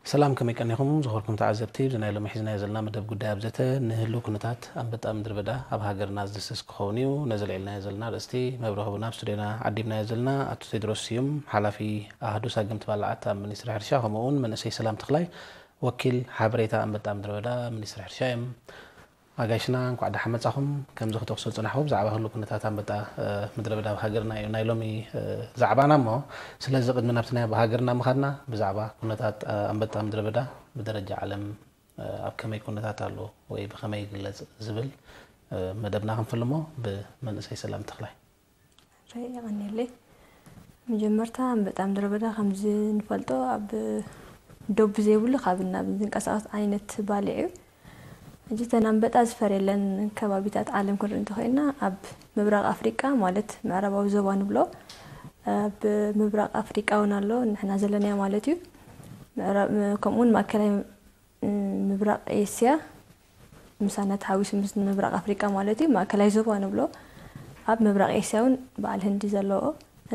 ሰላም፣ ከመይ ቀኒኹም ዝኸበርኩም ተዓዘብቲ? እዚ ናይ ሎሚ ሒዝናዮ ዘለና መደብ ጉዳይ ኣብ ዘተ ንህልው ኩነታት ኣንበጣ ምድሪ በዳ ኣብ ሃገርና ዝድስስ ክኸውን እዩ። ነዚ ኣልዒልናዮ ዘለና ኣርእስቲ መብርሂ ቡና ኣብ ስቱድዮና ዓዲምናዮ ዘለና ኣቶ ቴድሮስ ስዩም፣ ሓላፊ ኣሃዱ ሳግምቲ ባልዓት ኣብ ሚኒስትሪ ሕርሻ፣ ከምኡ እውን መንእሰይ ሰላም ተኽላይ፣ ወኪል ሓበሬታ ኣንበጣ ምድሪ በዳ ሚኒስትሪ ሕርሻ እዮም። ኣጋይሽና፣ እንኳዕ ደሓን መጻኹም። ከምዚ ክጠቕሶ ዝጸናሕኩ ብዛዕባ ህሉ ኩነታት ኣንበጣ ምድረ በዳ ኣብ ሃገርና እዩ ናይ ሎሚ ዛዕባና። እሞ ስለዚ ቅድሚ ናብቲ ናይ ኣብ ሃገርና ምኻድና፣ ብዛዕባ ኩነታት ኣንበጣ ምድረ በዳ ብደረጃ ዓለም ኣብ ከመይ ኩነታት ኣሎ ወይ ብኸመይ ይግለጽ ዝብል መደብና ክንፍልሞ ብመንእሰይ ሰላም ተኽላይ። ራይ የቐንየለይ። መጀመርታ ኣንበጣ ምድረ በዳ ከምዚ ንፈልጦ ኣብ ዶብ ዘይብሉ ካብ ናብ ዝንቀሳቐስ ዓይነት ባልዕ እዩ። ሕጂ እተን ኣንበጣ ዝፈርየለን ከባቢታት ዓለም ክንርኢ እንተኾይና፣ ኣብ ምብራቕ ኣፍሪቃ ማለት ምዕራባዊ ዞባ ንብሎ፣ ኣብ ምብራቕ ኣፍሪቃ እውን ኣሎ፣ ንሕና ዘለናዮ ማለት እዩ። ምዕራብ፣ ከምኡ እውን ማእከላይ ምብራቕ ኤስያ፣ ምሳና ተሓዊሱ ምስ ምብራቕ ኣፍሪቃ ማለት እዩ። ማእከላይ ዞባ ንብሎ ኣብ ምብራቕ ኤስያ እውን በዓል ህንዲ ዘለዎ፣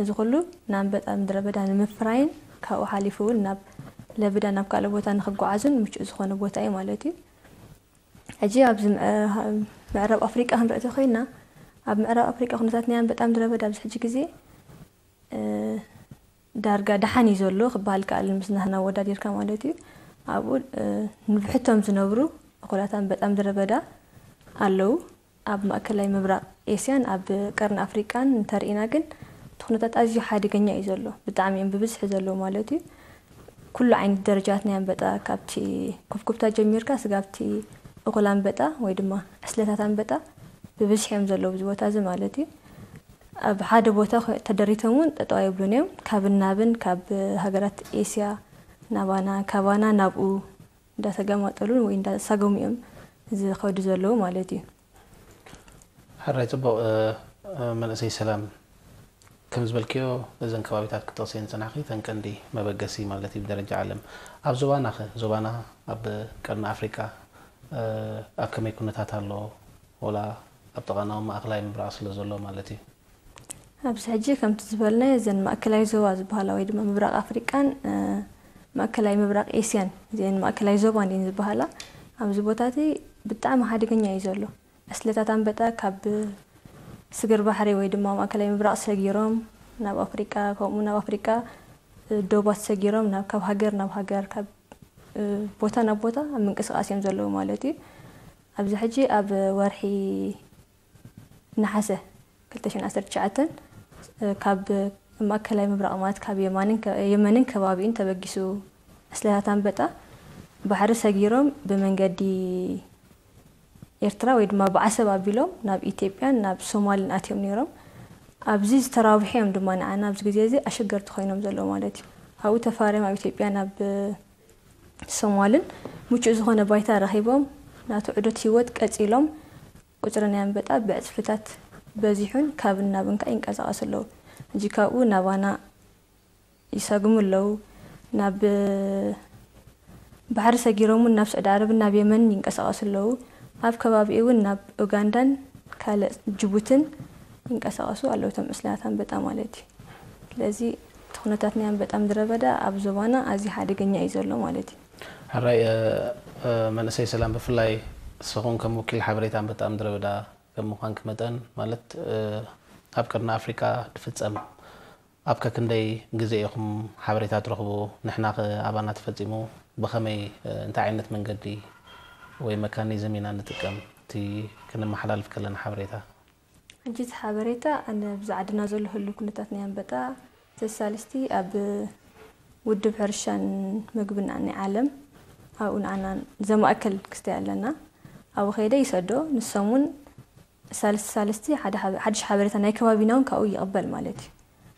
እዚ ኩሉ ንኣንበጣ ምድረ በዳ ንምፍራይን ካብኡ ሓሊፉ እውን ናብ ለብዳ ናብ ካልእ ቦታ ንክጓዓዙን ምቹእ ዝኾነ ቦታ እዩ ማለት እዩ። ሕጂ ኣብዚ ምዕራብ ኣፍሪቃ ክንርኢ ተኮይና፣ ኣብ ምዕራብ ኣፍሪቃ ኩነታት ናይ ኣንበጣ ምድረ በዳ ኣብዚ ሕጂ ግዜ ዳርጋ ደሓን እዩ ዘሎ ክበሃል ከኣል ምስ ናህና ኣወዳዲርካ ማለት እዩ። ኣብኡ ንብሕቶም ዝነብሩ እኹላት ኣንበጣ ምድረ በዳ ኣለዉ። ኣብ ማእከላይ ምብራቕ ኤስያን ኣብ ቀርኒ ኣፍሪቃን እንተርኢና ግን እቲ ኩነታት ኣዝዩ ሓደገኛ እዩ ዘሎ። ብጣዕሚ እዮም ብብዝሒ ዘለዉ ማለት እዩ። ኩሉ ዓይነት ደረጃት ናይ ኣንበጣ ካብቲ ኩብኩብታ ጀሚርካ ስጋብቲ እኹል ኣንበጣ ወይ ድማ ዕስለታት ኣንበጣ ብብዝሒ እዮም ዘለዉ ኣብዚ ቦታ እዚ ማለት እዩ። ኣብ ሓደ ቦታ ተደሪቶም እውን ጠጠው ኣይብሉን እዮም። ካብን ናብን ካብ ሃገራት ኤስያ ናባና ካባና ናብኡ እንዳተገማጠሉን ወይ እንዳሳገሙ እዮም ዝኸዱ ዘለዉ ማለት እዩ። ሕራይ ጽቡቕ። መንእሰይ ሰላም፣ ከም ዝበልክዮ እዘን ከባቢታት ክጠቕስየን ዝጸናሕኪ እተን ቀንዲ መበገሲ ማለት እዩ ብደረጃ ዓለም። ኣብ ዞባና ኸ? ዞባና ኣብ ቀርኒ ኣፍሪቃ ኣብ ከመይ ኩነታት ኣሎ? ወላ ኣብ ጥቓና እውን ማእከላይ ምብራቕ ስለ ዘሎ ማለት እዩ። ኣብዚ ሕጂ ከምቲ ዝበልናዮ እዘን ማእከላይ ዞባ ዝበሃላ ወይ ድማ ምብራቕ ኣፍሪቃን ማእከላይ ምብራቕ ኤስያን እዚአን ማእከላይ ዞባ እንዲን ዝበሃላ ኣብዚ ቦታ እቲ ብጣዕሚ ሓደገኛ እዩ ዘሎ። ዕስለታት ኣንበጣ ካብ ስግር ባሕሪ ወይ ድማ ማእከላይ ምብራቕ ሰጊሮም ናብ ኣፍሪቃ፣ ከምኡ ናብ ኣፍሪቃ ዶባት ሰጊሮም ናብ ካብ ሃገር ናብ ሃገር ካብ ቦታ ናብ ቦታ ኣብ ምንቅስቃስ እዮም ዘለዉ ማለት እዩ። ኣብዚ ሕጂ ኣብ ወርሒ ነሓሰ ክልተ ሽሕን ዓሰርተ ትሽዓተን ካብ ማእከላይ ምብራቕ ማለት ካብ የማንን የመንን ከባቢኡን ተበጊሱ ዕስለታት ኣንበጣ ባሕሪ ሰጊሮም ብመንገዲ ኤርትራ ወይ ድማ ብዓሰብ ኣቢሎም ናብ ኢትዮጵያን ናብ ሶማልን ኣትዮም ነይሮም። ኣብዚ ዝተራብሑ እዮም ድማ ንዓና ኣብዚ ግዜ እዚ ኣሸገርቲ ኮይኖም ዘለዉ ማለት እዩ። ኣብኡ ተፋርዮም ኣብ ኢትዮጵያ ናብ ሶማልን ምቹእ ዝኾነ ባይታ ረኺቦም ናቱ ዑደት ህይወት ቀጺሎም ቁጽሪ ናይ ኣንበጣ ብዕጽፍታት በዚሑን ካብን ናብን ከኣ ይንቀሳቐሱ ኣለዉ። ሕጂ ካብኡ ናባና ይሰግሙ ኣለዉ። ናብ ባሕሪ ሰጊሮም እውን ናብ ስዑዲ ዓረብን ናብ የመንን ይንቀሳቐሱ ኣለዉ። ኣብ ከባቢኡ እውን ናብ ኡጋንዳን ካልእ ጅቡትን ይንቀሳቐሱ ኣለዉ እቶም ዕስለታት ኣንበጣ ማለት እዩ። ስለዚ እቲ ኩነታት ናይ ኣንበጣ ምድረ በዳ ኣብ ዞባና ኣዝዩ ሓደገኛ እዩ ዘሎ ማለት እዩ። ሕራይ መንእሰይ ሰላም፣ ብፍላይ ንስኹም ከም ወኪል ሓበሬታ ኣንበጣ ምድረ በዳ ከም ምዃንኪ መጠን ማለት ኣብ ቀርኒ ኣፍሪቃ ድፍጸም ኣብ ከክንደይ ግዜ ኢኹም ሓበሬታ ትረኽቡ? ንሕና ከ ኣባና ተፈጺሙ ብኸመይ እንታይ ዓይነት መንገዲ ወይ መካኒዝም ኢና ንጥቀም እቲ ክንመሓላልፍ ከለና ሓበሬታ? ሕጂ እቲ ሓበሬታ ኣነ ብዛ ዓድና ዘሎ ህሉ ኩነታት ናይ ኣንበጣ ተሳልስቲ ኣብ ውድብ ሕርሻን ምግብን ናይ ዓለም ኣብኡ ንዓና ዘማእከል ክስታይ ኣለና። ኣብኡ ከይደ ይሰዶ ንሶም እውን ሳልስቲ ሳልስቲ ሓድሽ ሓበሬታ ናይ ከባቢና እውን ካብኡ ይቕበል ማለት እዩ።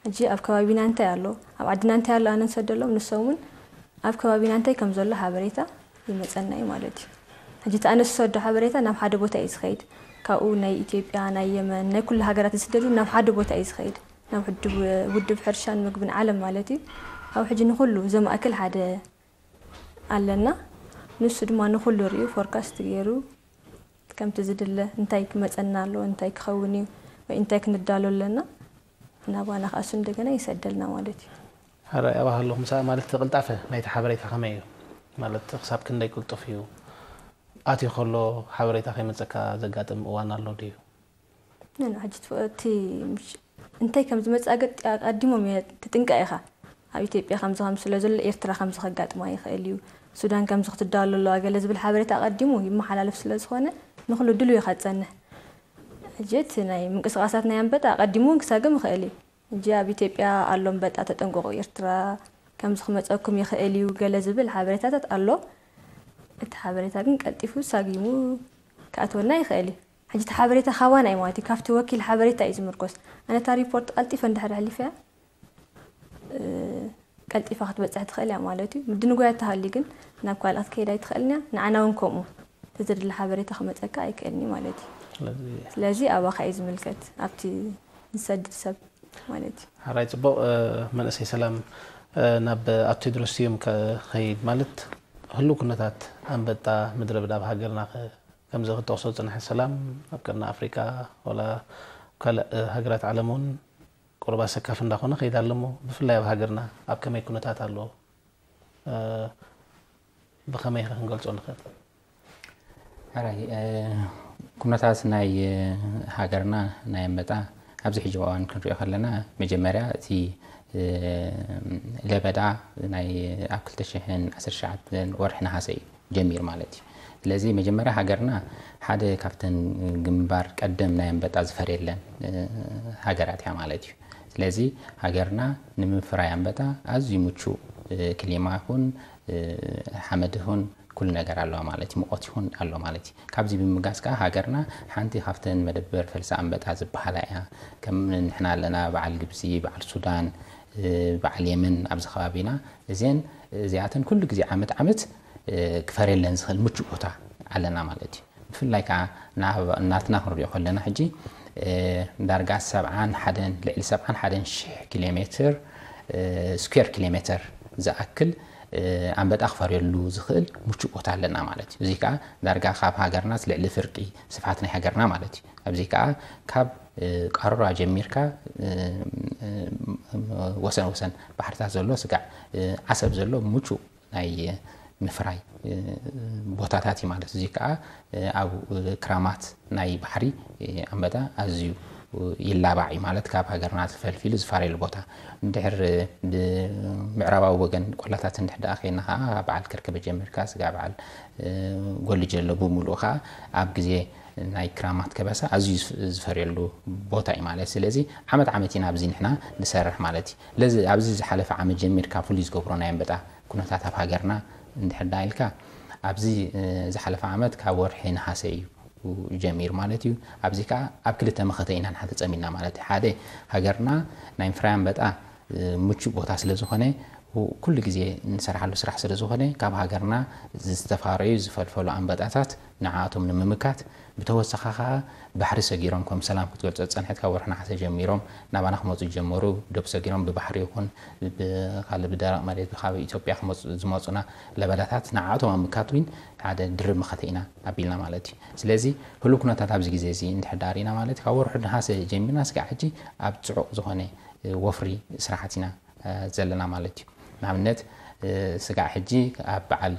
ሕጂ ኣብ ከባቢና እንታይ ኣሎ ኣብ ዓድና እንታይ ኣሎ ኣነ ንሰደሎም ንሶም እውን ኣብ ከባቢና እንታይ ከም ዘሎ ሓበሬታ ይመፀና እዩ ማለት እዩ። ሕጂ እቲ ኣነ ዝሰዶ ሓበሬታ ናብ ሓደ ቦታ እዩ ዝኸይድ። ካብኡ ናይ ኢትዮጵያ ናይ የመን ናይ ኩሉ ሃገራት ዝስደዱ ናብ ሓደ ቦታ እዩ ዝኸይድ ናብ ውድብ ሕርሻን ምግብን ዓለም ማለት እዩ። ኣብ ሕጂ ንኩሉ ዘማእክል ሓደ ኣለና። ንሱ ድማ ንኩሉ ሪኡ ፎርካስት ገይሩ ከምቲ ዝድለ እንታይ ክመፀና ኣሎ እንታይ ክኸውን እዩ ወይ እንታይ ክንዳሎ ኣለና ናባና ከኣ እሱ እንደገና ይሰደልና ማለት እዩ። ሕራይ ኣባሃለኹ ምሳእ ማለት እቲ ቅልጣፈ ናይቲ ሓበሬታ ከመይ እዩ? ማለት ክሳብ ክንደይ ቅልጡፍ እዩ? ኣትዩ ከሎ ሓበሬታ ከይመፀካ ዘጋጥም እዋን ኣሎ ድዩ? ነን ሕጂ እቲ እንተይ ከም ዝመፅእ ኣቀዲሞም እየ ትጥንቀ ኢኻ። ኣብ ኢትዮጵያ ከምዚ ከም ስለ ዘሎ ኤርትራ ከምዚ ከጋጥማ ይኽእል እዩ፣ ሱዳን ከምዚ ክትዳሎ ኣለዋ ገለ ዝብል ሓበሬታ ኣቐዲሙ ይመሓላለፍ ስለ ዝኾነ ንክሉ ድልው ኢኻ ትፀንሕ። ሕጂ እቲ ናይ ምንቅስቃሳት ናይ ኣንበጣ ኣቐዲሙ እውን ክሳግም ይኽእል እዩ። ሕጂ ኣብ ኢትዮጵያ ኣሎ ኣንበጣ ተጠንቀቑ፣ ኤርትራ ከምዚ ክመፀኩም ይኽእል እዩ ገለ ዝብል ሓበሬታታት ኣሎ። እቲ ሓበሬታ ግን ቀልጢፉ ሳጊሙ ክኣትወና ይኽእል እዩ። ሕጂ እቲ ሓበሬታ ካባና እዩ ማለት እዩ፣ ካብቲ ወኪል ሓበሬታ እዩ ዝምርኮስ። ኣነ እታ ሪፖርት ቀልጢፈ እንድሕር ኣሕሊፈያ ቀልጢፋ ክትበፅሕ ትኽእል እያ ማለት እዩ። ምድንጓያ ተሃልዩ ግን ናብ ካልእ ክትከይድ ኣይትኽእልን እያ። ንዓና እውን ከምኡ፣ እቲ ዝድለ ሓበሬታ ክመፀካ ኣይክእልን እዩ ማለት እዩ። ስለዚ ኣባኻ እዩ ዝምልከት፣ ኣብቲ ዝሰድድ ሰብ ማለት እዩ። ሓራይ ፅቡቕ። መንእሰይ ሰላም፣ ናብ ኣቶ ቴድሮስ ስዩም ከኸይድ ማለት፣ ህሉው ኩነታት ኣንበጣ ምድረ በዳ ኣብ ሃገርና ከምዚ ክትጠቕሶ ዝፅንሐ ሰላም ኣብ ቀርኒ ኣፍሪቃ ወላ ካልእ ሃገራት ዓለም እውን ቁሩብ ኣሰካፊ እንዳኾነ ከይድ ኣሎ እሞ፣ ብፍላይ ኣብ ሃገርና ኣብ ከመይ ኩነታት ኣሎ? ብኸመይ ኸ ክንገልጾ ንኽእል? ሕራይ፣ ኩነታት ናይ ሃገርና ናይ ኣንበጣ ኣብዚ ሕጂ እዋን ክንሪኦ ከለና፣ መጀመርያ እቲ ለበዳ ናይ ኣብ ክልተ ሽሕን ዓሰርተ ትሽዓተን ወርሒ ነሃሰ እዩ ጀሚሩ ማለት እዩ። ስለዚ መጀመርያ ሃገርና ሓደ ካብተን ግንባር ቀደም ናይ ኣንበጣ ዝፈርየለን ሃገራት እያ ማለት እዩ። ስለዚ ሃገርና ንምፍራይ ኣንበጣ ኣዝዩ ምቹእ ክሊማ ይኹን ሓመድ ይኹን ኩሉ ነገር ኣለዋ ማለት እዩ። ሙቐት ይኹን ኣሎ ማለት እዩ። ካብዚ ብምጋስ ከዓ ሃገርና ሓንቲ ካብተን መደበር ፈልሲ ኣንበጣ ዝበሃላ እያ። ከም ንሕና ኣለና፣ በዓል ግብፂ፣ በዓል ሱዳን፣ በዓል የመን ኣብዚ ከባቢና፣ እዚን እዚኣተን ኩሉ ግዜ ዓመት ዓመት ክፈርየለን ዝኽእል ምቹእ ቦታ ኣለና ማለት እዩ። ብፍላይ ከዓ ናትና ክንሪኦ ከለና ሕጂ ዳርጋ ሰብዓን ሓደን፣ ልዕሊ ሰብዓን ሓደን ሽሕ ኪሎ ሜትር ስኩዌር ኪሎ ሜትር ዝኣክል ኣንበጣ ክፈርየሉ ዝኽእል ምቹእ ቦታ ኣለና ማለት እዩ። እዚ ከዓ ዳርጋ ካብ ሃገርና ልዕሊ ፍርቂ ስፍሓት ናይ ሃገርና ማለት እዩ። ኣብዚ ከዓ ካብ ቃሮራ ጀሚርካ ወሰን ወሰን ባሕርታት ዘሎ ስጋዕ ዓሰብ ዘሎ ምቹእ ናይ ምፍራይ ቦታታት እዩ ማለት። እዚ ከዓ ኣብ ክራማት ናይ ባሕሪ ኣንበጣ ኣዝዩ ይላባዕ እዩ ማለት፣ ካብ ሃገርና ተፈልፊሉ ዝፋረየሉ ቦታ። እንድሕር ምዕራባዊ ወገን ቆላታት እንድሕር ደኣ ከይና ከዓ በዓል ከርከበ ጀሚርካ ስጋ በዓል ጎልጀሎ ብምሉኡ ከዓ ኣብ ግዜ ናይ ክራማት ከበሳ ኣዝዩ ዝፈርየሉ ቦታ እዩ ማለት። ስለዚ ዓመት ዓመት ኢና ኣብዚ ንሕና ንሰርሕ ማለት እዩ። ለዚ ኣብዚ ዝሓለፈ ዓመት ጀሚርካ ፍሉይ ዝገብሮ ናይ ኣንበጣ ኩነታት ኣብ ሃገርና እንድሕር ደኣ ኢልካ፣ ኣብዚ ዝሓለፈ ዓመት ካብ ወርሒ ነሃሰ እዩ ጀሚሩ ማለት እዩ። ኣብዚ ከዓ ኣብ ክልተ መኸተ ኢና ንሓ ተፀሚና ማለት እዩ። ሓደ፣ ሃገርና ናይ ምፍራይ ኣንበጣ ምቹእ ቦታ ስለ ዝኾነ፣ ኩሉ ግዜ ንሰርሓሉ ስራሕ ስለ ዝኾነ፣ ካብ ሃገርና ዝተፋረዩ ዝፈልፈሉ ኣንበጣታት ንዓኣቶም ንምምካት፣ ብተወሳኺ ከዓ ባሕሪ ሰጊሮም፣ ከም ሰላም ክትገልጾ ዝጸንሐት፣ ካብ ወርሒ ነሓሰ ጀሚሮም ናባና ክመጹ ዝጀመሩ፣ ዶብ ሰጊሮም ብባሕሪ ይኹን ብኻልእ ብደረቕ መሬት ካብ ኢትዮጵያ ክመጹ ዝመጹና ለበዳታት ንዓኣቶም ኣብ ምምካት እውን ሓደ ድርብ መኸተ ኢና ኣቢልና ማለት እዩ። ስለዚ ህሉው ኩነታት ኣብዚ ግዜ እዚ እንድሕር ደኣ ርኢና ማለት እዩ፣ ካብ ወርሒ ነሓሰ ጀሚርና ስጋዕ ሕጂ ኣብ ጽዑቕ ዝኾነ ወፍሪ ስራሓት ኢና ዘለና ማለት እዩ። ንኣብነት ስጋዕ ሕጂ ኣብ በዓል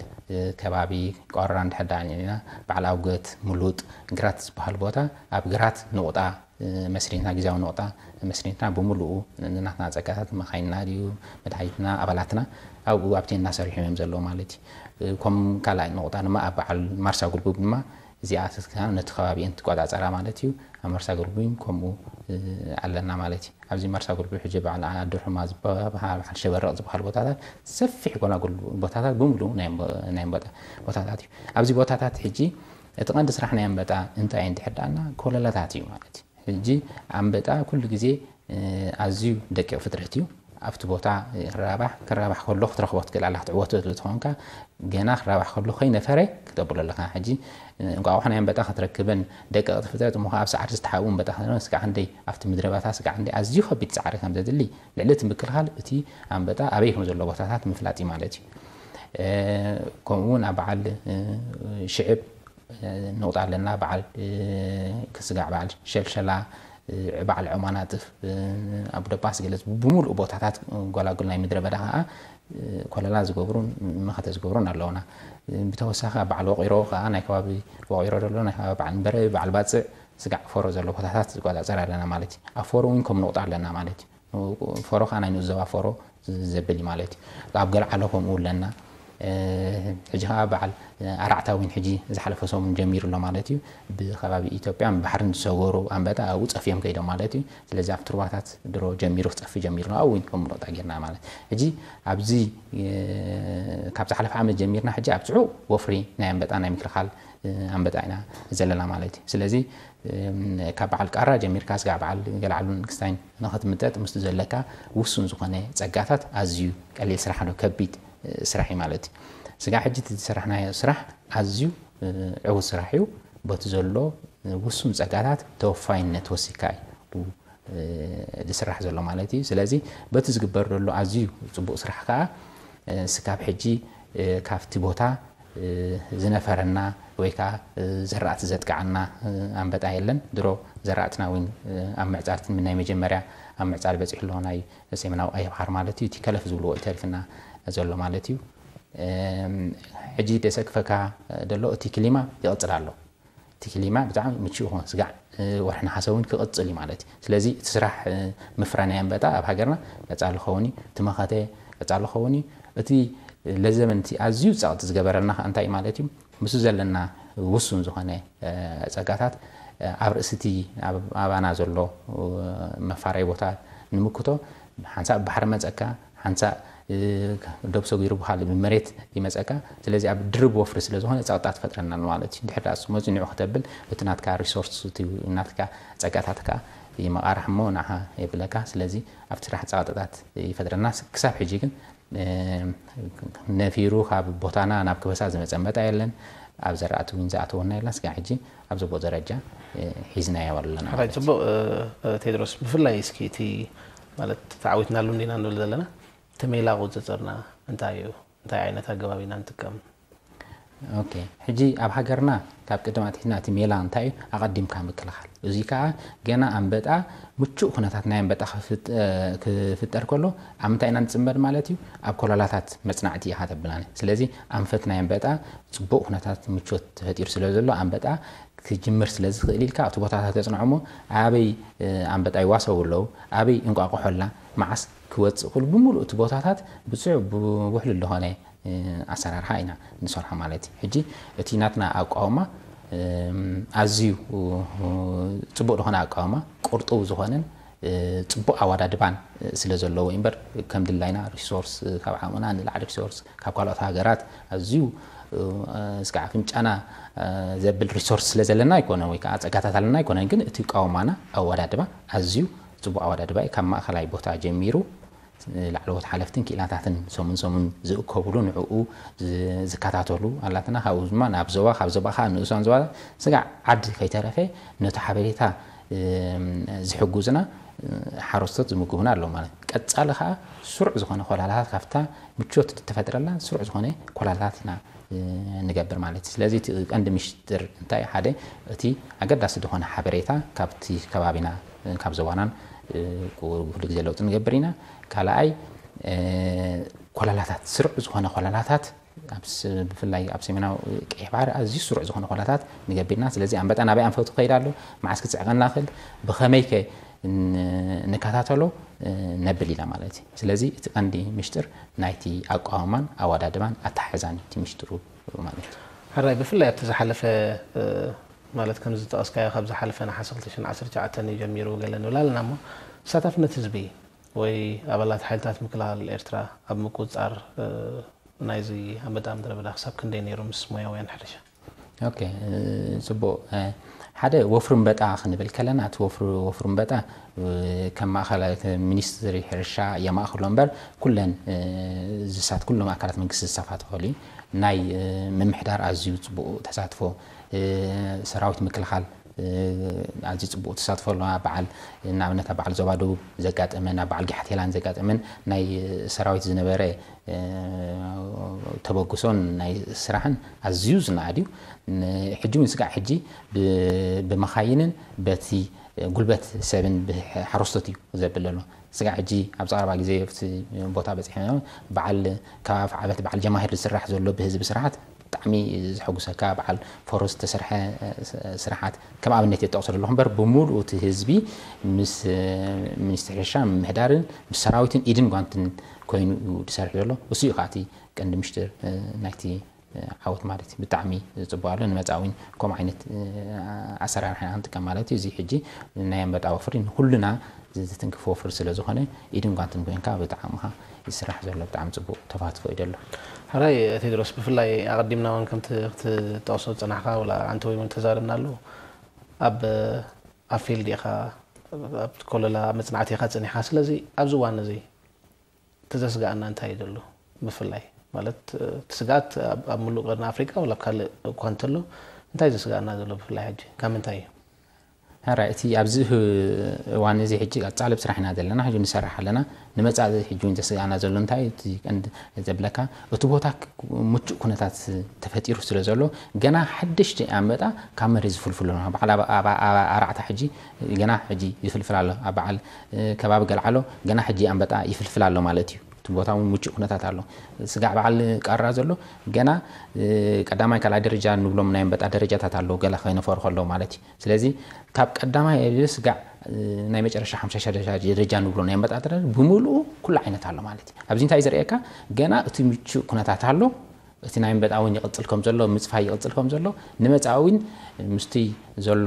ከባቢ ቆራ እንድሕር ደኣ ርኢና፣ በዓል ኣውገት፣ ሙሉጥ፣ ግራት ዝበሃል ቦታ፣ ኣብ ግራት ንቑጣ መስሪትና፣ ግዝያዊ ንቑጣ መስሪትና፣ ብምሉኡ ናትና ጸጋታት፣ መኻይንና ድዩ መድሃኒትና፣ ኣባላትና ኣብኡ ኣብቲ እናሰርሑ እዮም ዘለዉ ማለት እዩ። ከም ካልኣይ ንቑጣ ድማ ኣብ በዓል ማርሳ ጉልቡብ ድማ እዚኣ ስስካ ነቲ ከባቢ እየን ትቆጻጸራ ማለት እዩ። ኣብ ማርሳ ጉልቡብ ከምኡ ኣለና ማለት እዩ። ኣብዚ ማርሳ ጉልቡብ ሕጂ በዓል ኣድርሑማ ዝበሃል፣ በዓል ሸበረቕ ዝበሃል ቦታታት ሰፊሕ ጎላጉል ቦታታት ብምሉኡ ናይ ኣንበ-፣ ናይ ኣንበጣ ቦታታት እዩ። ኣብዚ ቦታታት ሕጂ እቲ ቀንዲ ስራሕ ናይ ኣንበጣ እንታይ እዩ እንድሕር ደኣና ኮለላታት እዩ ማለት እዩ። ሕጂ ኣንበጣ ኩሉ ግዜ ኣዝዩ ደቂቕ ፍጥረት እዩ። ኣብቲ ቦታ ክራባሕ፣ ክራባሕ ከሎ ክትረኽቦ ትክእል ኣላ፣ ክትዕወቶ ትኽእል ተኾንካ፣ ገና ክራባሕ ከሎ ከይነፈረ ክተብሎ ኣለካ። ሕጂ እንቋቑሖ ናይ ኣንበጣ ክትረክብን ደቀቕቲ ፍጥረት እሞ ኣብ ሳዕሪ ዝተሓብኡ ኣንበጣ ክትረክብን ስጋዕ ክንደይ ኣብቲ ምድረ ባታ ስጋዕ ክንደይ ኣዝዩ ከቢድ ጻዕሪ ከም ዘድሊ፣ ልዕሊ እቲ ምክልኻል እቲ ኣንበጣ ኣበይ ከም ዘሎ ቦታታት ምፍላጥ እዩ ማለት እዩ። ከምኡ እውን ኣብ በዓል ሽዕብ ንቑጣ ኣለና፣ በዓል ክስጋዕ፣ በዓል ሸልሸላ፣ በዓል ዖማናጥፍ፣ ኣብ ደባስ ገለጽ ብምሉእ ቦታታት ጎላጉል ናይ ምድረ በዳ ከዓ ኮለላ ዝገብሩን መኸተ ዝገብሩን ኣለውና። ብተወሳኺ ኣብ በዓል ወቂሮ ከዓ ናይ ከባቢ ወቂሮ ዘሎ ናይ ከባቢ በዓል ንበረ በዓል ባፅዕ ስጋዕ ፈሮ ዘሎ ቦታታት ዝቆፃፀር ኣለና ማለት እዩ። ኣብ ፈሮ እውን ከም ንቑጣ ኣለና ማለት እዩ። ፈሮ ከዓ ናይ ንኡስ ዞባ ፈሮ ዘብል እዩ ማለት እዩ። ኣብ ገልዓሎ ከምኡ ኣለና። ሕጂ ከዓ በዓል ኣራዕታ እውን ሕጂ ዝሓለፈ ሰሙን ጀሚሩ ኣሎ ማለት እዩ። ብከባቢ ኢትዮጵያን ባሕርን ዝሰገሩ ኣንበጣ ኣብኡ ፀፍዮም ከይዶም ማለት እዩ። ስለዚ ኣብቲ ሩባታት ድሮ ጀሚሩ ክፀፊ ጀሚሩ ኣሎ። ኣብኡ እውን ከም ንቑጣ ጌርና ማለት ሕጂ ኣብዚ ካብ ዝሓለፈ ዓመት ጀሚርና ሕጂ ኣብ ፅዑቕ ወፍሪ ናይ ኣንበጣ ናይ ምክልኻል ኣንበጣ ኢና ዘለና ማለት እዩ። ስለዚ ካብ በዓል ቃራ ጀሚርካ ስጋዕ በዓል ገልዓሉን ክስታይን ንኽትምጠጥ ምስቲ ዘለካ ውሱን ዝኾነ ፀጋታት ኣዝዩ ቀሊል ስራሕ ዶ ከቢድ ስራሕ እዩ ማለት እዩ። ስጋዕ ሕጂ እቲ ዝሰራሕናዮ ስራሕ ኣዝዩ ዕዉት ስራሕ እዩ። በቲ ዘሎ ውሱን ፀጋታት ተወፋይነት ወሲካ እዩ ዝስራሕ ዘሎ ማለት እዩ። ስለዚ በቲ ዝግበር ዘሎ ኣዝዩ ፅቡቕ ስራሕ ከዓ ስካብ ሕጂ ካብቲ ቦታ ዝነፈረና ወይ ከዓ ዘራእቲ ዘጥቃዓና ኣንበጣ የለን። ድሮ ዘራእትና እውን ኣብ ምዕፃድ ናይ መጀመርያ ኣብ ምዕፃድ በፂሑ ኣሎ ናይ ሰሜናዊ ቀይሕ ባሕሪ ማለት እዩ። እቲ ከለፍ ዝብልዎ እዩ ተሪፍና ዘሎ ማለት እዩ። ሕጂ ደሰክፈካ ደሎ እቲ ክሊማ ይቕፅል ኣሎ። እቲ ክሊማ ብጣዕሚ ምቹእ ይኸውን። ስጋዕ ወርሒ ነሓሰ እውን ክቕፅል እዩ ማለት እዩ። ስለዚ እቲ ስራሕ ምፍራይ ናይ ኣንበጣ ኣብ ሃገርና ቀፃሊ ክኸውን እዩ። እቲ መኸተ ቀፃሊ ክኸውን እዩ። እቲ ለዘመንቲ ኣዝዩ ጸቕጢ ዝገበረልና ከኣ እንታይ ማለት እዩ? ምስኡ ዘለና ውሱን ዝኾነ ጸጋታት ኣብ ርእሲ እቲ ኣባና ዘሎ መፋረይ ቦታ ንምክቶ ሓንሳእ ብባሕሪ መጸካ፣ ሓንሳእ ደብ ሰጊሩ ብኻልእ ብመሬት ይመጸካ። ስለዚ ኣብ ድርብ ወፍሪ ስለ ዝኾነ ጸቕጣ ትፈጥረና ማለት እዩ። ድሕር ዳኣ እሱ መጺኡ ንዑ ከተብል እቲ ናትካ ሪሶርስ እቲ ናትካ ጸጋታትካ ይመቓርሕ እሞ ንዓኻ የብለካ። ስለዚ ኣብቲ ስራሕ ጸቕጥታት ይፈጥረና። ክሳብ ሕጂ ግን ነፊሩ ካብ ቦታና ናብ ክበሳ ዝመጸ ኣንበጣ የለን። ኣብ ዘራእቲ እውን ዝኣተወና የለን። ስጋዕ ሕጂ ኣብ ጽቡቕ ደረጃ ሒዝናዮ ኣለና ሕራይ ማለት እዩ። ጽቡቕ። ቴድሮስ፣ ብፍላይ እስኪ እቲ ማለት ተዓዊትናሉ እንዲና ንብል ዘለና እቲ ሜላ ቁጽጽርና እንታይ እዩ? እንታይ ዓይነት ኣገባብ ኢና ንጥቀም? ኦኬ፣ ሕጂ ኣብ ሃገርና ካብ ቅድም ኣትሒዝና እቲ ሜላ እንታይ እዩ? ኣቐዲምካ ምክልኻል። እዚ ከኣ ገና ኣንበጣ ምቹእ ኩነታት ናይ ኣንበጣ ክፍጥ-፣ ክፍጠር ከሎ ኣብ ምንታይ ኢና ንጽመድ ማለት እዩ? ኣብ ኮለላታት መጽናዕቲ ኢኻ ተብላኒ። ስለዚ ኣንፈት ናይ ኣንበጣ ጽቡቕ ኩነታት ምቾት ተፈጢሩ ስለ ዘሎ ኣንበጣ ክጅምር ስለ ዝኽእል ኢልካ ኣብቲ ቦታታት ተጽንዖ እሞ ኣበይ ኣንበጣ ይዋሰቡ ኣለዉ፣ ኣበይ እንቋቑሖ ኣላ፣ መዓስ ክወጽእ ክሉ ብምሉእ እቲ ቦታታት ብጽዑ ብውሕሉል ዝኾነ ኣሰራርሓ ኢና ንሰርሖ ማለት እዩ። ሕጂ እቲ ናትና ኣቃውማ ኣዝዩ ጽቡቕ ዝኾነ ኣቃውማ ቁርጡው ዝኾነን ጽቡቕ ኣወዳድባን ስለ ዘለዎ እምበር ከም ድላይና ሪሶርስ ካብ ዓቕምና ንላዕሊ ሪሶርስ ካብ ካልኦት ሃገራት ኣዝዩ እስከ ኣፍንጫና ዘብል ሪሶርስ ስለ ዘለና ኣይኮነ ወይ ከዓ ጸጋታት ኣለና ኣይኮነን። ግን እቲ ኣቃውማና ኣወዳድባ ኣዝዩ ጽቡቕ ኣወዳድባ እዩ። ካብ ማእኸላይ ቦታ ጀሚሩ ላዕለዎት ሓለፍትን ክኢላታትን ሰሙን ሰሙን ዝእከብሉ ንዕኡ ዝ-፣ ዝከታተሉ ኣላትና። ካብኡ ድማ ናብ ዞባ፣ ካብ ዞባ ከዓ ንኡሳን ዞባ ስጋዕ ዓዲ ከይተረፈ ነቲ ሓበሬታ ዝሕጉዝና ሓረስቶት ዝምግቡና ኣለዉ ማለት እዩ። ቀጻሊ ከዓ ስሩዕ ዝኾነ ኮላላታት ካብታ ምቾት እተፈጥረላ ስሩዕ ዝኾነ ኮላላታት ኢና ንገብር ማለት እዩ። ስለዚ እቲ ቀንዲ ምሽጥር እንታይ ሓደ እቲ ኣገዳሲ ዝኾነ ሓበሬታ ካብቲ ከባቢና ካብ ዞባናን ኩሉ ግዜ ለውጢ ንገብር ኢና። ካልኣይ ኮላላታት ስሩዕ ዝኾነ ኮላላታት ኣብ ስ-፣ ብፍላይ ኣብ ሰሜናዊ ቀይሕ ባሕሪ ኣዝዩ ስሩዕ ዝኾነ ኮላታት ንገብር ኢና። ስለዚ ኣንበጣ ናበይ ኣንፈቱ ከይድ ኣሎ፣ መዓስ ክጽዕቐና ክእል፣ ብኸመይ ከ ን-፣ ንከታተሎ ነብል ኢና ማለት እዩ። ስለዚ እቲ ቀንዲ ምሽጥር ናይቲ ኣቋውማን ኣወዳድባን ኣተሓሕዛን እቲ ምሽጥሩ ማለት እዩ። ሕራይ ብፍላይ ኣብቲ ዝሓለፈ ማለት ከም ዝጠቐስካዮ ካብ ዝሓለፈ ነሓሰ ክልተ ሽሕን ዓሰርተ ትሽዓተን እዩ ጀሚሩ ገለ ንብል ኣለና እሞ ተሳታፍነት ህዝቢ ወይ ኣባላት ሓይልታት ምክልኻል ኤርትራ ኣብ ምቁጽጻር ናይዚ ኣንበጣ ምድረ በዳ ክሳብ ክንደይ ነይሩ ምስ ሞያውያን ሕርሻ? ኦኬ፣ ጽቡቕ። ሓደ ወፍሪ ኣንበጣ ክንብል ከለና እቲ ወፍሪ፣ ወፍሪ ኣንበጣ ከም ማእኸላይ ሚኒስትሪ ሕርሻ የማእኽሎ እምበር ኩለን ዝሳት-፣ ኩሎም ኣካላት መንግስቲ ዝሳተፈሉ እዩ። ናይ ምምሕዳር ኣዝዩ ጽቡቕ ተሳትፎ፣ ሰራዊት ምክልኻል ኣዝዩ ጽቡቕ ተሳትፎ ኣለዋ። በዓል ንኣብነት ኣብ በዓል ዞባ ደቡብ ዘጋጠመን ኣብ በዓል ጋሓቴላን ዘጋጠመን ናይ ሰራዊት ዝነበረ ተበግሶን ናይ ስራሕን ኣዝዩ ዝነኣድ እዩ። ሕጂ እውን ስጋዕ ሕጂ ብመኻይንን በቲ ጉልበት ሰብን ሓረስቶት እዩ ዘብል ዘሎ። ስጋዕ ሕጂ ኣብ ዛዕባ ግዜ ኣብቲ ቦታ በፂሐ በዓል ከባቢ ዓበት በዓል ጀማሂር ዝስራሕ ዘሎ ብህዝቢ ስራሓት ብጣዕሚ ዘሐጉሰካ በዓል ፎሮ ዝተሰርሐ ስራሓት ከም ኣብነት የጠቕሶ ዘለኹ እምበር ብምሉኡ እቲ ህዝቢ ምስ ሚኒስትሪ ሕርሻ ምምሕዳርን ምስ ሰራዊትን ኢድን ጓንትን ኮይኑ እዩ ዝሰርሕ ዘሎ። እሱ እዩ ከዓ እቲ ቀንዲ ምሽጢር ናይቲ ዓወት ማለት እዩ። ብጣዕሚ ጽቡቅ ኣሎ። ንመጻዊን ከምኡ ዓይነት ኣሰራርሓ ኢና ክንጥቀም ማለት እዩ። እዚ ሕጂ ናይ ኣንበጣ ወፍሪ ንኩልና ዝትንክፍ ወፍሪ ስለ ዝኾነ ኢድን ጓንትን ኮይንካ ብጣዕምኻ ይስራሕ ዘሎ ብጣዕሚ ጽቡቅ ተፋትፎ እዩ ዘሎ። ሕራይ ቴድሮስ፣ ብፍላይ ኣቐዲምና እውን ከምቲ ክትጠቕሶ ዝጸናሕካ ወላ ኣንተ ወይ እውን ተዛረብናሉ ኣብ ኣብ ፊልድ ኢኻ ኣብ ኮለላ መጽናዕቲ ኢኻ ጸኒሕካ። ስለዚ ኣብዚ እዋን እዚ እቲ ዘስግኣና እንታይ እዩ ዘሎ? ብፍላይ ማለት እቲ ስግኣት ኣብ ኣብ ምሉእ ቀርኒ ኣፍሪቃ ወላ ኣብ ካልእ እኳ እንተሎ እንታይ ዘስግኣና ዘሎ ብፍላይ ሕጂ ካብ ምንታይ እዩ? ሕራይ እቲ ኣብዚ እዋን እዚ ሕጂ ቀጻሊ ኣብ ስራሕ ኢና ዘለና ሕጂ ንሰርሕ ኣለና። ንመጻኢ ሕጂ እውን ዘስግኣና ዘሎ እንታይ እቲ ቀንዲ ዘብለካ እቲ ቦታ ምቹእ ኩነታት ተፈጢሩ ስለ ዘሎ ገና ሓደሽቲ ኣንበጣ ካብ መሬት ዝፍልፍሉ ኣለዉ። በዓል ኣብ ኣርዓታ ሕጂ ገና ሕጂ ይፍልፍል ኣሎ። ኣብ በዓል ከባቢ ገልዓሎ ገና ሕጂ ኣንበጣ ይፍልፍል ኣሎ ማለት እዩ። እቲ ቦታ እውን ምቹእ ኩነታት ኣሎ። ስጋዕ በዓል ቃራ ዘሎ ገና ቀዳማይ ካልኣይ ደረጃ ንብሎም ናይ ኣንበጣ ደረጃታት ኣለዉ ገለ ከይነፈሩ ከለዉ ማለት እዩ። ስለዚ ካብ ቀዳማይ ስጋዕ ናይ መጨረሻ ሓምሻይ ደረጃ ደረጃ ንብሎ ናይ ኣንበጣ ደረጃ ብምሉኡ ኩሉ ዓይነት ኣሎ ማለት እዩ። ኣብዚ እንታይ ዘርእየካ ገና እቲ ምቹእ ኩነታት ኣሎ። እቲ ናይ ኣንበጣ እውን ይቕጽል ከም ዘሎ ምጽፋይ ይቕጽል ከም ዘሎ ንመጻኢ እውን ምስቲ ዘሎ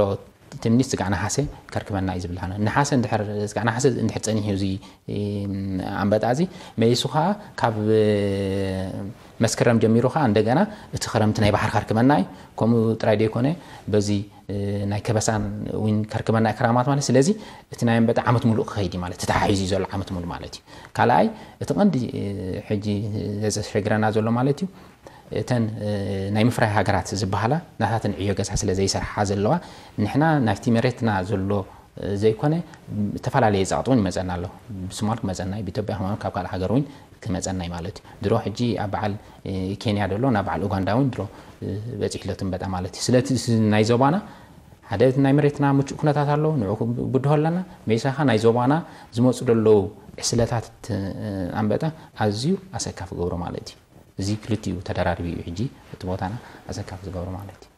ትምኒት ስጋዕ ነሓሰ ከርክበና እዩ ዝብልሃና ነሓሰ እንድሕር ስጋዕ ነሓሰ እንድሕር ጸኒሑ እዚ ኣንበጣ እዚ መሊሱ ከዓ ካብ መስከረም ጀሚሩ ከዓ እንደገና እቲ ክረምቲ ናይ ባሕሪ ከርክበና እዩ። ከምኡ ጥራይ ዘይኮነ በዚ ናይ ከበሳን እውን ከርክበና እዩ ክራማት ማለት ስለዚ እቲ ናይ ኣንበጣ ዓመት ሙሉእ ክኸይድ እዩ ማለት ተተሓሒዙ እዩ ዘሎ ዓመት ሙሉእ ማለት እዩ። ካልኣይ እቲ ቀንዲ ሕጂ ዘዘሸግረና ዘሎ ማለት እዩ እተን ናይ ምፍራይ ሃገራት ዝበሃላ ናታተን ዕዮ ገዛ ስለ ዘይሰርሓ ዘለዋ ንሕና ናብቲ መሬትና ዘሎ ዘይኮነ ዝተፈላለየ ጸቕጢ እውን ይመጸና ኣሎ። ብሶማል ክመጸና እዩ፣ ብኢትዮጵያ ከማን ካብ ካልእ ሃገር እውን ክመጸና እዩ ማለት እዩ። ድሮ ሕጂ ኣብ በዓል ኬንያ ደሎ ናብ በዓል ኡጋንዳ እውን ድሮ በጺሕለቱ እምበጣ ማለት እዩ። ስለቲ ናይ ዞባና ሓደ ናይ መሬትና ምቹእ ኩነታት ኣሎ፣ ንዑ ብድሆ ኣለና። መይሳኻ ናይ ዞባና ዝመጹ ደለዉ ዕስለታት ኣንበጣ ኣዝዩ ኣሰካፊ ገብሮ ማለት እዩ። እዚ ክልቲኡ ተደራሪቡ እዩ ሕጂ እቲ ቦታና ኣሰካፊ ዝገብሮ ማለት እዩ።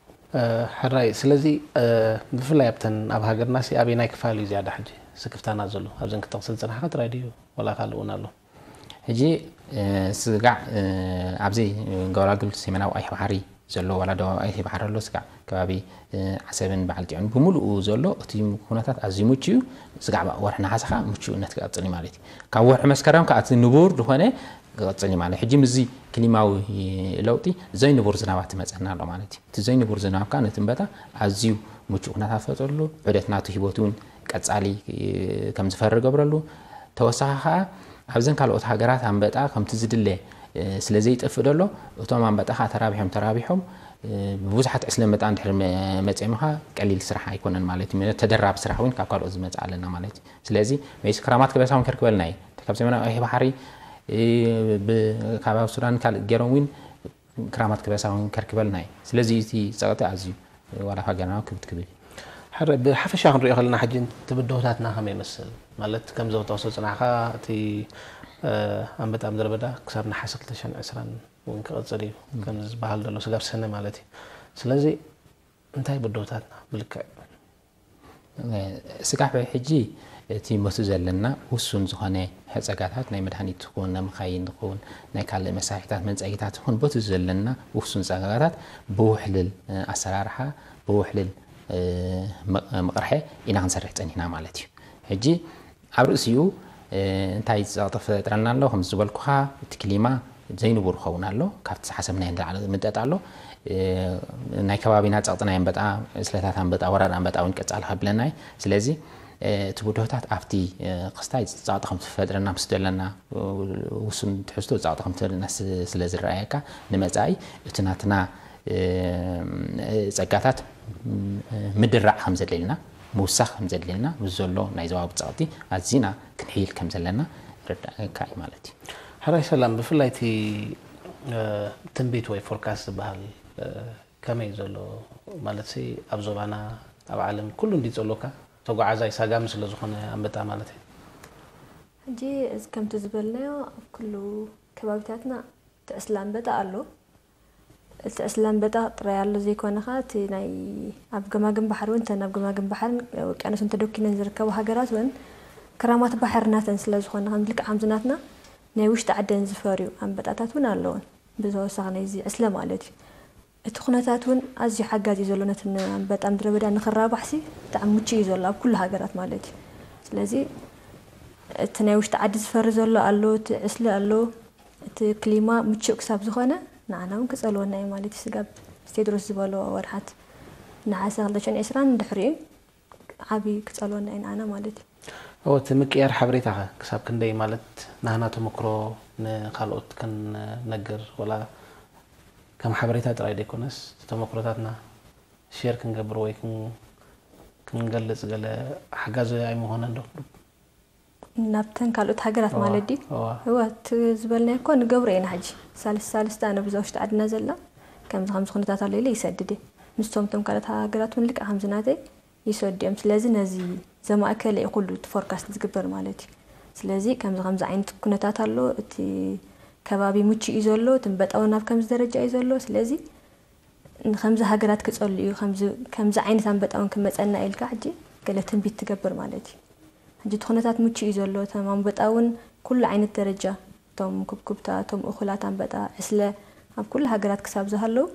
ሕራይ ስለዚ ብፍላይ ኣብተን ኣብ ሃገርና ሲ ኣበይ ናይ ክፋል እዩ ዝያዳ ሕጂ ስክፍታና ዘሎ ኣብዘን ክጠቕስ ዝፅናሕካ ጥራይ ድዩ ወላ ካልእ እውን ኣሎ? ሕጂ ስጋዕ ኣብዚ ገባላል ግብልቲ ሰሜናዊ ቀይሕ ባሕሪ ዘሎ ዋላ ደቡብ ቀይሕ ባሕሪ ኣሎ ስጋዕ ከባቢ ዓሰብን በዓል ጢዑን ብምሉኡ ዘሎ እቲ ኩነታት ኣዝዩ ምቹ እዩ። ስጋዕ ወርሒ ነሓሰ ከዓ ምቹእነት ክቐፅል እዩ ማለት እዩ። ካብ ወርሒ መስከረም ከዓ እቲ ንቡር ዝኾነ ክቐፅል እዩ ማለት ሕጂ ምስዚ ክሊማዊ ለውጢ ዘይንቡር ዝናባት ትመፀና ኣሎ ማለት እዩ። እቲ ዘይንቡር ዝናብ ከዓ ነቲ እምበጣ ኣዝዩ ምቹእ ኩነታት ፈጥረሉ፣ ዑደት ናቱ ህይወት እውን ቀፃሊ ከም ዝፈሪ ገብረሉ፣ ተወሳኺ ከዓ ኣብዘን ካልኦት ሃገራት ኣንበጣ ከምቲ ዝድለ ስለ ዘይጠፍእ ደሎ እቶም ኣንበጣ ከዓ ተራቢሖም ተራቢሖም ብብዙሓት ዕስለ መጣ እንድሕር መፅኦም ከዓ ቀሊል ስራሕ ኣይኮነን ማለት እዩ። ተደራቢ ስራሕ እውን ካብ ካልኦት ዝመፅእ ኣለና ማለት እዩ። ስለዚ መይስ ክራማት ክበሳ እውን ከርክበልና እዩ። ካብ ሰሜናዊ ቀይሕ ባሕሪ ካብ ኣብ ሱዳን ካልእ ገይሮም እውን ክራማት ክበሳ እውን ከርክበልና እዩ። ስለዚ እቲ ፀቕጢ ኣዝዩ ዋላ እኳ ገና ክብት ክብል እዩ። ሕረ ብሓፈሻ ክንሪኦ ከለና ሕጂ እቲ ብድሆታትና ከመይ ይመስል? ማለት ከምዚ ክጠቕሶ ዝፅናሕካ እቲ ኣንበጣ ምድረ በዳ ክሳብ ነሓሰ ክልተ ሽሕን ዕስራን እውን ክቐፅል እዩ ከምዚ ዝበሃል ዘሎ ስጋብ ሰነ ማለት እዩ። ስለዚ እንታይ ብድሆታትና ብልክዕ? ስጋዕ ሕጂ እቲ መቱ ዘለና ውሱን ዝኾነ ጸጋታት ናይ መድሃኒት ትኹን ናይ መኻይን ትኹን ናይ ካልእ መሳርሒታት መንጸጊታት ትኹን በቲ ዘለና ውሱን ጸጋታት ብውሕልል ኣሰራርሓ ብውሕልል ምቕርሐ ኢና ክንሰርሕ ጸኒሕና ማለት እዩ። ሕጂ ኣብ ርእሲኡ እንታይ ጸቕጢ ፈጥረልና ኣሎ? ከም ዝበልኩኻ እቲ ክሊማ ዘይንቡር ክኸውን ኣሎ። ካብቲ ዝሓሰብናዮ ንላዕሊ ምጠጥ ኣሎ። ናይ ከባቢና ጸቕጢ ናይ ኣንበጣ፣ ዕስለታት ኣንበጣ፣ ወራር ኣንበጣ እውን ቀጻሊ ከብለና እዩ። ስለዚ እቲ ብድሆታት ኣብቲ ክስታይ ጸቕጢ ከም ትፈጥረና ምስ ዘለና ውሱን ትሕዝቶ ጸቕጢ ከም ትፈጥረና ስለ ዝረኣየካ ንመጻኢ እቲ ናትና ጸጋታት ምድራዕ ከም ዘድልየና፣ ምውሳኽ ከም ዘድልየና፣ ምስ ዘሎ ናይ ዞባዊ ጸቕጢ ኣዚና ክንሕይል ከም ዘለና ርዳእካ እዩ ማለት እዩ። ሕራይ ሰላም፣ ብፍላይ እቲ ትንቢት ወይ ፎርካስት ዝበሃል ከመይ ዘሎ ማለት ሲ ኣብ ዞባና ኣብ ዓለም ኩሉ እንዲ ጸሎካ ተጓዓዛይ ሳጋሚ ስለ ዝኾነ ኣንበጣ ማለት እዩ። ሕጂ እዚ ከምቲ ዝበልናዮ ኣብ ኩሉ ከባቢታትና ትዕስላ ኣንበጣ ኣሎ። እቲ ዕስለ ኣንበጣ ጥራይ ኣሎ ዘይኮነ ኸኣ እቲ ናይ ኣብ ገማግም ባሕሪ እውን እተን ኣብ ገማግም ባሕርን ውቅያኖስን ተደኲነን ዝርከባ ሃገራት እውን ክራማት ባሕሪ ናተን ስለ ዝኾነ ከም ልክዕ ከምዚ ናትና ናይ ውሽጢ ዓደን ዝፈርዩ ኣንበጣታት እውን ኣለውን ብተወሳኺ ናይዚ ዕስለ ማለት እዩ። እቲ ኩነታት እውን ኣዝዩ ሓጋዚ እዩ ዘሎ ነቲ ኣንበጣ ምድረ በዳ ንክራባሕሲ ብጣዕሚ ምቹ እዩ ዘሎ ኣብ ኩሉ ሃገራት ማለት እዩ። ስለዚ እቲ ናይ ውሽጢ ዓዲ ዝፈሪ ዘሎ ኣሎ እቲ ዕስለ ኣሎ እቲ ክሊማ ምቹእ ክሳብ ዝኾነ ንዓና እውን ክጸልወና እዩ ማለት እዩ። ስጋብ ቴድሮስ ዝበሎ ወርሓት ነሓሰ ክልተ ሽሕን ዕስራን ድሕሪኡ ዓቢ ክጸልወና እዩ ንዓና ማለት እዩ። እወ እቲ ምቅያር ሓበሬታኸ ክሳብ ክንደይ ማለት ናህና ተመክሮ ንካልኦት ክንነግር ወላ ከም ሓበሬታ ጥራይ ዘይኮነስ ተመክሮታትና ሼር ክንገብር ወይ ክንገልጽ ገለ ሓጋዚ ኣይምኾነን ዶ? ናብተን ካልኦት ሃገራት ማለት ድዩ? እወ እቲ ዝበልናዮ እኮ ንገብሮ ኢና ሕጂ ሳልስ ሳልስቲ ኣነ ብዛ ውሽጢ ዓድና ዘላ ከምዚ ከምዚ ኩነታት ኣሎ ኢለ ይሰድድ እየ ምስቶም እቶም ካልኦት ሃገራት እውን ልክዕ ከምዚ ናተይ ይሰዱ እዮም ስለዚ ነዚ ዘማእከለ እዩ ኩሉ እቲ ፎርካስት ዝግበር ማለት እዩ ስለዚ ከምዚ ከምዚ ዓይነት ኩነታት ኣሎ እቲ ከባቢ ምቹ እዩ ዘሎ እቲ በጣውን ኣብ ከምዚ ደረጃ እዩ ዘሎ ስለዚ ንከምዚ ሃገራት ክጸሉ እዩ ከምዚ ዓይነት ኣንበጣ እውን ክመጸና ኢልካ ሕጂ ገለ ትንቢት ትገብር ማለት እዩ። ሕጂ እቲ ኩነታት ምቹእ እዩ ዘሎ እቶም ኣንበጣ እውን ኩሉ ዓይነት ደረጃ እቶም ኩብኩብታ እቶም እኹላት ኣንበጣ ዕስለ ኣብ ኩሉ ሃገራት ክሳብ ዝሃለዉ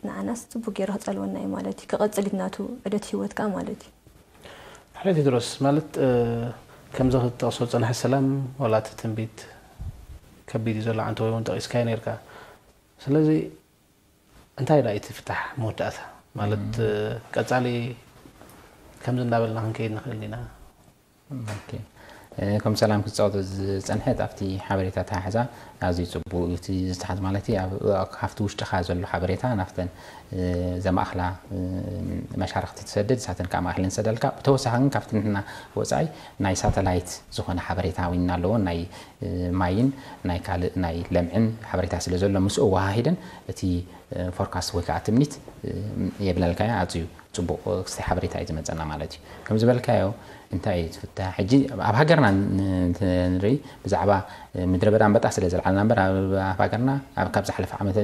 ንዓናስ ጽቡቅ ገይሩ ክጸልወና እዩ ማለት እዩ ክቐጽል እዩ ናቱ ዕደት ህይወት ከኣ ማለት እዩ። ሕራይ ቴድሮስ ማለት ከምዚ ክትጠቕሶ ዝጸናሕቲ ሰላም ዋላ እቲ ትንቢት ከቢድ እዩ ዘሎ ዓንተቦይ እውን ጠቒስካዮ ነይርካ ስለዚ እንታይ ደኣ እቲ ፍታሕ መወዳእታ ማለት ቀጻሊ ከምዚ እንዳበልና ክንከይድ ንኽእል ዲና? ከም ሰላም ክትጻወቶ ዝጸንሐት ኣብቲ ሓበሬታ ተሓሕዛ ኣዝዩ ጽቡቅ እዩ እቲ ዝተሓዝ ማለት ካብቲ ውሽጥኻ ዘሎ ሓበሬታ ናብተን ዘማእኽላ መሻርክቲ ትሰድድ ንሳተን ከዓ ማእኽለን ዝሰደልካ ብተወሳኺ ግን ካብቲ ንሕና ወፃኢ ናይ ሳተላይት ዝኾነ ሓበሬታ እውን ኣለዎ ናይ ማይን ናይ ካልእ ናይ ለምዕን ሓበሬታ ስለ ዘሎ ምስኡ ወሃሂደን እቲ ፎርካስት ወይ ከዓ ትምኒት የብለልካዮ ኣፅዩ ፅቡቕ ክስታይ ሓበሬታ እዩ ዝመፀና ማለት እዩ ከም ዝበልካዮ እንታይ እዩ ዝፍታ ሕጂ ኣብ ሃገርና ንርኢ ብዛዕባ ምድረ በዳ ኣንበጣ ስለ ዘልዓልና እምበር ኣብ ሃገርና ካብ ዝሓለፈ ዓመት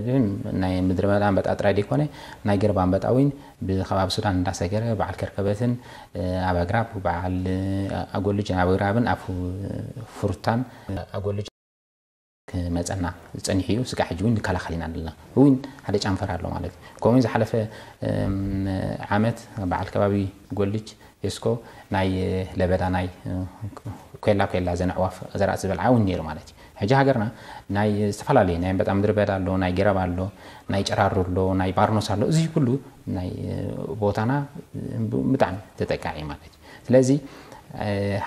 ናይ ምድረ በዳ ኣንበጣ ጥራይ ዘይኮነ ናይ ገረብ ኣንበጣ እውን ብከባቢ ሱዳን እንዳሰገረ በዓል ከርከበትን ኣብ ኣግራብ በዓል ኣጎልጅን ኣብ ኣግራብን ኣብ ፍሩታን ኣጎልጅ ክመፀና ፀኒሑ እዩ ስጋዕ ሕጂ እውን ንከላኸል ኢና ኣለና እውን ሓደ ጨንፈር ኣሎ ማለት እዩ ከምኡ ዝሓለፈ ዓመት በዓል ከባቢ ጎልጅ ዩስኮ ናይ ለበዳ ናይ ኮላ ኮላ ዘን ኣዕዋፍ ዘራእቲ ዝበልዓ እውን ነይሩ ማለት እዩ ሕጂ ሃገርና ናይ ዝተፈላለዩ ናይ ኣንበጣ ምድሪ በዳ ኣሎ ናይ ገረብ ኣሎ ናይ ጨራሩ ኣሎ ናይ ባርኖስ ኣሎ እዚ ኩሉ ናይ ቦታና ብጣዕሚ ተጠቃዒ ማለት እዩ ስለዚ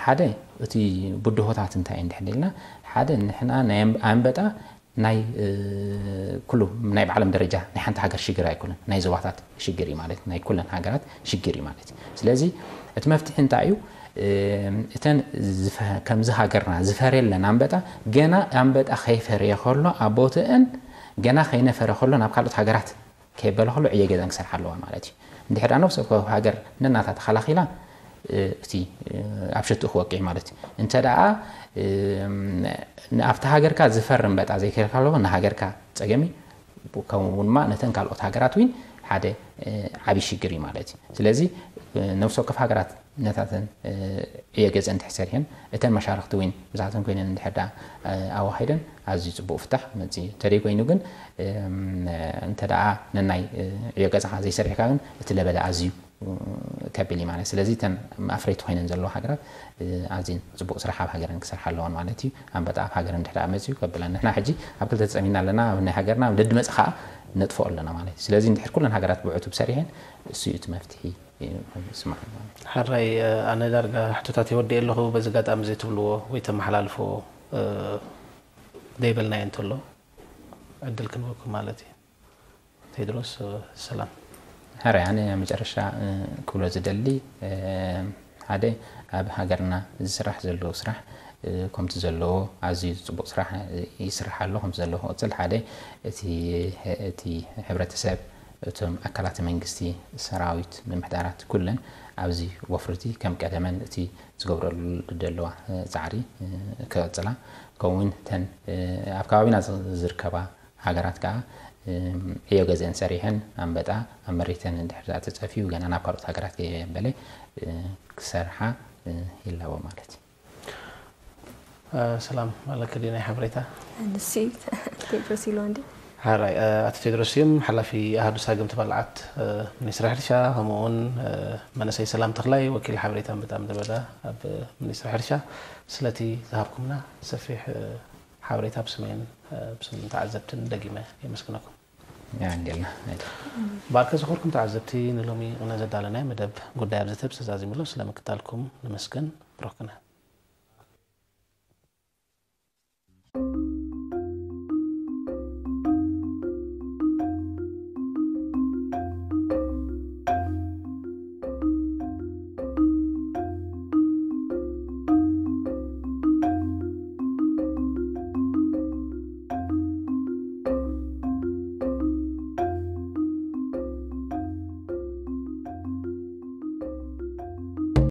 ሓደ እቲ ብድሆታት እንታይ እንድሕር ኢልና ሓደ ንሕና ናይ ኣንበጣ ናይ ኩሉ ናይ ብዓለም ደረጃ ናይ ሓንቲ ሃገር ሽግር ኣይኮነን ናይ ዞባታት ሽግር እዩ ማለት ናይ ኩለን ሃገራት ሽግር እዩ ማለት ስለዚ እቲ መፍትሒ እንታይ እዩ እተን ከምዚ ሃገርና ዝፈርየለን ኣንበጣ ገና ኣንበጣ ከይፈረየ ከሎ ኣብ ቦትአን ገና ከይነፈረ ከሎ ናብ ካልኦት ሃገራት ከየበለ ከሎ ዕየ ገዘን ክሰርሓ ኣለዋ ማለት እዩ እንድሕር ነብሲ ወከፍ ሃገር ነናታ ተኸላኺላ እቲ ኣብ ሸትኡ ክወቅዕ ማለት እዩ እንተ ደኣ ኣብቲ ሃገርካ ዝፈርም በጣ ዘይከልካ ኣለዎ ንሃገርካ ፀገሚ ከምኡ ድማ ነተን ካልኦት ሃገራት እውን ሓደ ዓብዪ ሽግር እዩ ማለት እዩ ስለዚ ነብሲ ወከፍ ሃገራት ነታተን ዕዮ ገዘ እንድሕር ሰሪሐን እተን መሻርክቲ እውን ብዛተን ኮይነን እንድሕር ደኣ ኣዋሂደን ኣዝዩ ፅቡቅ ፍታሕ መፅእ እዩ እንተደይ ኮይኑ ግን እንተ ደኣ ነናይ ዕዮ ገዛኻ ዘይሰሪሕካ ግን እቲ ለበዳ ኣዝዩ ከቢል እዩ ማለት ስለዚ እተን ኣፍረይቲ ኮይነን ዘለዋ ሃገራት ኣዝን ፅቡቅ ስራሕ ኣብ ሃገረን ክሰርሓ ኣለዋን ማለት እዩ ኣንበጣ ኣብ ሃገር እንድሕር ደኣ መፅዩ ከብለን ንሕና ሕጂ ኣብ ክልተ ተፀሚና ኣለና ኣብ ናይ ሃገርና ኣብ ደድመፅ ከዓ ነጥፍኦ ኣለና ማለት እዩ ስለዚ እንድሕር ኩለን ሃገራት ብዕቱብ ሰሪሐን እሱ እዩ እቲ መፍትሒ ይስማዕ ሓራይ ኣነ ዳርጋ ሕቶታት የወዲእ ኣለኹ በዚ ጋጣሚ እዚ ትብልዎ ወይ ተመሓላልፎ ዘይበልናዮ እንተሎ ዕድል ክንበኩም ማለት እዩ ቴድሮስ ሰላም። ሕራይ ኣነ ኣብ መጨረሻ ክብሎ ዝደሊ ሓደ ኣብ ሃገርና ዝስራሕ ዘሎ ስራሕ ከምቲ ዘለዎ ኣዝዩ ፅቡቕ ስራሕ ይስራሕ ኣሎ። ከምቲ ዘለዎ ክቕፅል ሓደ እቲ እቲ ሕብረተሰብ እቶም ኣካላት መንግስቲ፣ ሰራዊት፣ ምምሕዳራት ኩለን ኣብዚ ወፍርቲ ከም ቀደመን እቲ ዝገብረሉ ዘለዋ ፃዕሪ ክቕፅላ ከምኡውን ተን ኣብ ከባቢና ዝርከባ ሃገራት ከዓ ዕዮ ገዘን ሰሪሐን ኣንበጣ ኣብ መሬተን እንድሕር ተፀፊዩ ገና ናብ ካልኦት ሃገራት ከየበለ ክሰርሓ ይላቦ ማለት እዩ። ሰላም ኣለኪ ድዩ ናይ ሓበሬታ? ንሲ ቴድሮስ ኢልዋ እንዲ ሓራይ ኣቶ ቴድሮስ እዮም ሓላፊ ኣሃዱ ሳግም ተባልዓት ሚኒስትሪ ሕርሻ፣ ከምኡ እውን መንእሰይ ሰላም ተኽላይ ወኪል ሓበሬታ ኣንበጣ ምድረ በዳ ኣብ ሚኒስትሪ ሕርሻ ስለቲ ዝሃብኩምና ሰፊሕ ሓበሬታ ብስመይን ብስም ተዓዘብትን ደጊመ የመስግነኩም። ያንዴልና ባርከ ዝኾርኩም ተዓዘብቲ ንሎሚ ቁነ ዘዳለናይ መደብ ጉዳይ ኣብ ዘተብ ተዛዚሙሎ ስለምክታልኩም ንመስገን ብሮክነ